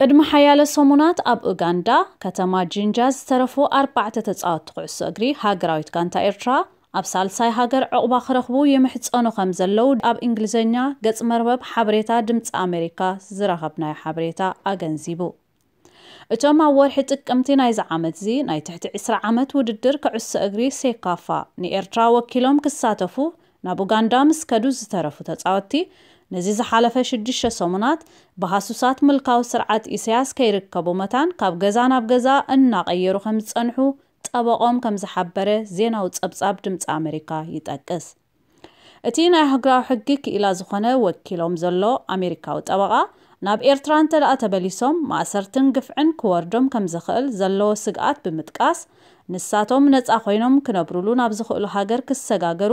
ቅድሚ ሓያለ ሰሙናት ኣብ ኡጋንዳ ከተማ ጂንጃ ዝተረፉ ኣርባዕተ ተጻወትቲ ኩዕሶ እግሪ ሃገራዊት ጋንታ ኤርትራ ኣብ ሳልሳይ ሃገር ዕቑባ ክረኽቡ ይምሕጸኑ ከም ዘለዉ ኣብ እንግሊዝኛ ገጽ መርበብ ሓበሬታ ድምጺ ኣሜሪካ ዝረኸብናዮ ሓበሬታ ኣገንዚቡ። እቶም ኣብ ወርሒ ጥቅምቲ ናይዚ ዓመት እዚ ናይ ትሕቲ ዕስራ ዓመት ውድድር ኩዕሶ እግሪ ሴካፋ ንኤርትራ ወኪሎም ክሳተፉ ናብ ኡጋንዳ ምስ ከዱ ዝተረፉ ተጻወትቲ፣ ነዚ ዝሓለፈ ሽዱሽተ ሰሙናት ብሃሱሳት ምልካዊ ስርዓት ኢሳያስ ከይርከቡ መታን ካብ ገዛ ናብ ገዛ እናቐየሩ ከም ዝጸንሑ ጠበቖም ከም ዝሓበረ ዜናዊ ጸብጻብ ድምጺ ኣሜሪካ ይጠቅስ። እቲ ናይ ኣህጉራዊ ሕጊ ክኢላ ዝኾነ ወኪሎም ዘሎ ኣሜሪካዊ ጠበቓ፣ ናብ ኤርትራ እንተ ደኣ ተመሊሶም ማእሰርትን ግፍዕን ክወርዶም ከም ዝኽእል ዘለዎ ስግኣት ብምጥቃስ፣ ንሳቶም ነጻ ኮይኖም ክነብሩሉ ናብ ዝኽእሉ ሃገር ክሰጋገሩ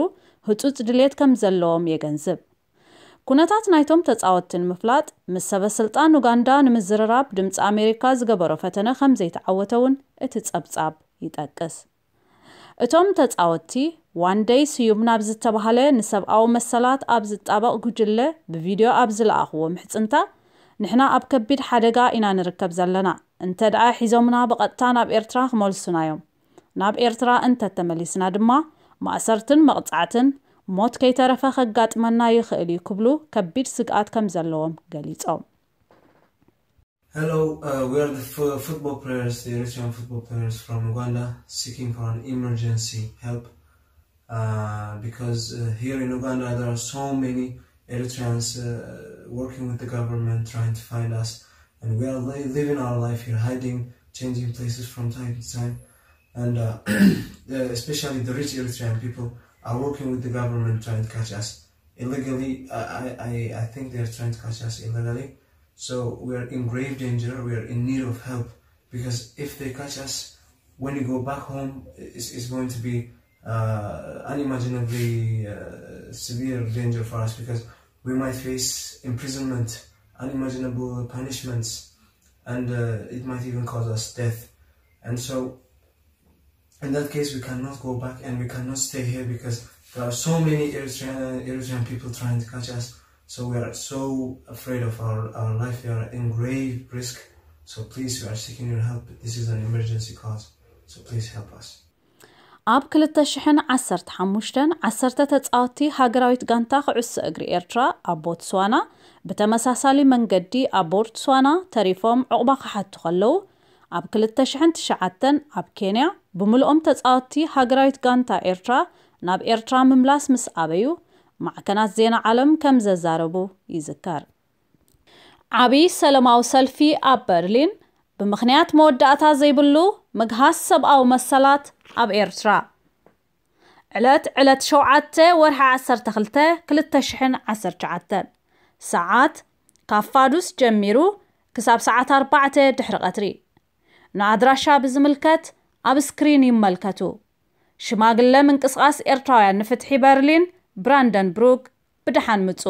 ህጹጽ ድሌት ከም ዘለዎም የገንዝብ። ኩነታት ናይቶም ተጻወትቲ ንምፍላጥ ምስ ሰበ ስልጣን ኡጋንዳ ንምዝርራብ ድምጺ ኣሜሪካ ዝገበሮ ፈተነ ከም ዘይተዓወተ እውን እቲ ጸብጻብ ይጠቅስ። እቶም ተጻወትቲ ዋንደይ ስዩም ናብ ዝተባህለ ንሰብኣዊ መሰላት ኣብ ዝጣበቕ ጉጅለ ብቪድዮ ኣብ ዝለኣኽዎ ምሕጽንታ፣ ንሕና ኣብ ከቢድ ሓደጋ ኢና ንርከብ ዘለና፣ እንተ ደኣ ሒዞምና ብቐጥታ ናብ ኤርትራ ክመልሱና እዮም። ናብ ኤርትራ እንተ ተመሊስና ድማ ማእሰርትን መቕጻዕትን ሞት ከይተረፈ ከጋጥመና ይኽእል እዩ ክብሉ ከቢድ ስግኣት ከም ዘለዎም ገሊጾም። Hello, uh, we are the f- football players, the Eritrean football players from Uganda, seeking for an emergency help. Uh, because uh, here in Uganda there are so many Eritreans uh, working with the government trying to find us, and we are li- living our life here, hiding, changing places from time to time, and uh, uh, especially the rich Eritrean people are working with the government trying to catch us illegally. I, I, I think they're trying to catch us illegally. So we are in grave danger. We are in need of help because if they catch us, when we go back home, it's, it's going to be uh, unimaginably uh, severe danger for us because we might face imprisonment, unimaginable punishments, and uh, it might even cause us death. And so in that case, we cannot go back and we cannot stay here because there are so many Eritrean, Eritrean people trying to catch us. So we are so afraid of our, our life. We are in grave risk. So please, we are seeking your help. This is an emergency cause. So please help us. ኣብ ክልተ ሽሕን ዓሰርተ ሓሙሽተን ዓሰርተ ተጻወትቲ ሃገራዊት ጋንታ ኩዕሶ እግሪ ኤርትራ ኣብ ቦትስዋና ብተመሳሳሊ መንገዲ ኣብ ቦትስዋና ተሪፎም ዕቑባ ክሓቱ ከለዉ፣ ኣብ ክልተ ሽሕን ትሽዓተን ኣብ ኬንያ ብምልኦም ተጻወትቲ ሃገራዊት ጋንታ ኤርትራ ናብ ኤርትራ ምምላስ ምስ ኣበዩ ማዕከናት ዜና ዓለም ከም ዘዛረቡ ይዝከር። ዓቢ ሰለማዊ ሰልፊ ኣብ በርሊን ብምኽንያት መወዳእታ ዘይብሉ ምግሃስ ሰብኣዊ መሰላት ኣብ ኤርትራ። ዕለት ዕለት ሸውዓተ ወርሒ ዓሰርተ ክልተ ክልተ ሽሕን ዓሰርተ ትሽዓተን ሰዓት ካብ ፋዱስ ጀሚሩ ክሳብ ሰዓት ኣርባዕተ ድሕሪ ቀትሪ። ንኣድራሻ ብዝምልከት ኣብ ስክሪን ይመልከቱ። ሽማግለ ምንቅስቓስ ኤርትራውያን ንፍትሒ በርሊን ብራንደንብሩግ ብደሓን ምጹ።